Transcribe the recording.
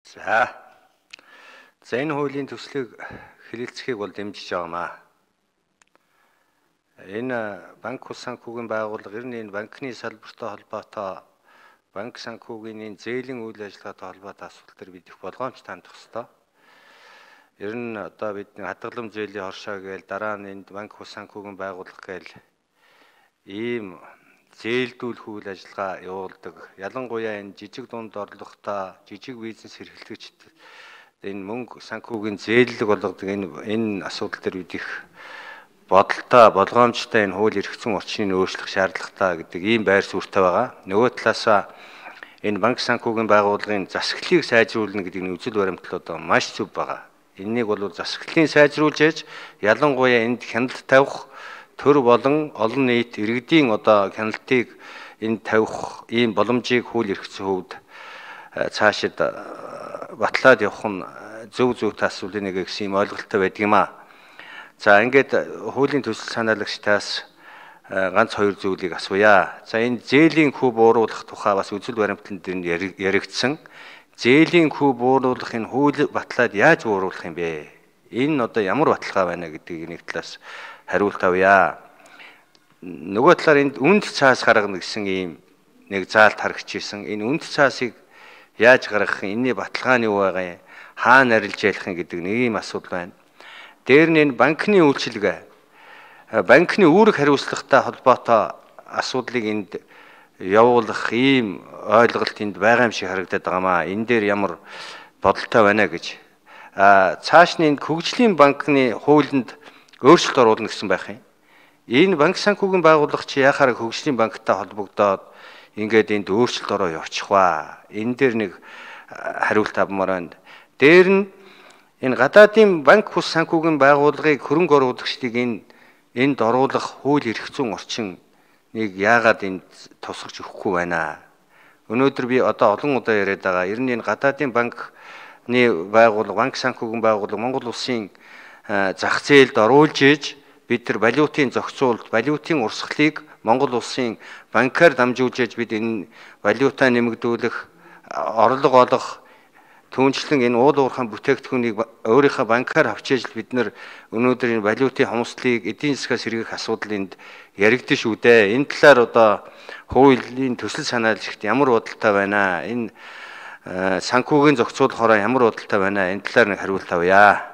За энэ хуулийн төслийг хэлэлцэхийг бол дэмжиж байгаамаа. Энэ банк ус санхүүгийн байгууллага ер нь энэ банкны салбартай холбоотой банк санхүүгийн зээлийн үйл ажиллагаатай холбоотой асуудал төр бид их болгоомж тандах ёстой. Ер нь одоо бид хадгалам зээлийн хоршоо гээл дараа нь энд банк ус санхүүгийн байгууллага гээл ийм зээлдүүлэх үйл ажиллагаа явуулдаг. Ялангуяа энэ жижиг дунд орлоготой жижиг бизнес эрхлэгчид энэ мөнгө санхүүгийн зээллэг болгодог энэ асуудал төр бид их бодолтой болгоомжтой энэ хууль эрх зүйн орчныг өөрчлөх шаардлагатай гэдэг ийм байр суурьтай байгаа. Нөгөө талаасаа энэ банк санхүүгийн байгууллагын засаглалыг сайжруулна гэдэг нь үзэл баримтлал одоо маш зөв байгаа. Энэнийг бол засаглалыг сайжруулж ээж ялангуяа энд хяналт тавих төр болон олон нийт иргэдийн одоо хяналтыг энд тавих ийм боломжийг хууль эрх зүйн хувьд цаашид батлаад явах нь зөв зүйтэй нэг гэсэн юм ойлголттой байдаг юм аа. За ингээд хуулийн төсөл санаалагчдаас ганц хоёр зүйлийг асууя. За энэ зээлийн хүү бууруулах тухай бас үзэл баримтлал дээр яригдсан. Зээлийн хүү бууруулах энэ хууль батлаад яаж бууруулах юм бэ? Энэ одоо ямар баталгаа байна гэдгийг нэг талаас хариулт авъя. Нөгөө талаар энд үнд цаас гаргана гэсэн ийм нэг заалт харагдчихсэн. Энэ үнд цаасыг яаж гаргах юм? Энэний баталгаа нь юу байгаа юм? Хаана арилж ялах юм гэдэг нэг ийм асуудал байна. Дээр нь энэ банкны үйлчилгээ, банкны үүрэг хариуцлагатай холбоотой асуудлыг энд явуулах ийм ойлголт энд байгаа юм шиг харагдаад байгаамаа. Энэ дээр ямар бодолтой байна гэж. Цааш нь энэ хөгжлийн банкны хуулинд өөрчлөлт оруулна гэсэн байх юм. Энэ банк санхүүгийн байгууллага чи яхаар хөгжлийн банктай холбогдоод ингээд энд өөрчлөлт ороо явчих ба. Энэ дээр нэг хариулт авмаар байна. Дээр нь энэ гадаадын банк ус санхүүгийн байгууллагыг хөрөнгө оруулагчдыг энд оруулах хууль эрх зүйн орчин нэг яагаад энд тусгаж өгөхгүй байна. Өнөөдөр би одоо олон удаа яриад байгаа. Ер нь энэ гадаадын банкны байгууллага, банк санхүүгийн байгууллага Монгол улсын зах зээлд оруулж иж бид нар валютын зохицуулалт, валютын урсгалыг Монгол улсын банкаар дамжуулж иж бид энэ валютаа нэмэгдүүлэх, орлого олох, түүнчлэн энэ уул уурхайн бүтээгдэхүүнийг өөрийнхөө банкаар авчиж бид нар өнөөдөр энэ валютын хомсдлыг эдийн засгаас сэргээх асуудал энд яригдсан шүү дээ. Энэ талаар одоо хуулийн төсөл санаалагчид ямар бодолтой байна? Энэ санхүүгийн зохицуулахаараа ямар бодолтой байна? Энэ талаар нэг хариулт авъя.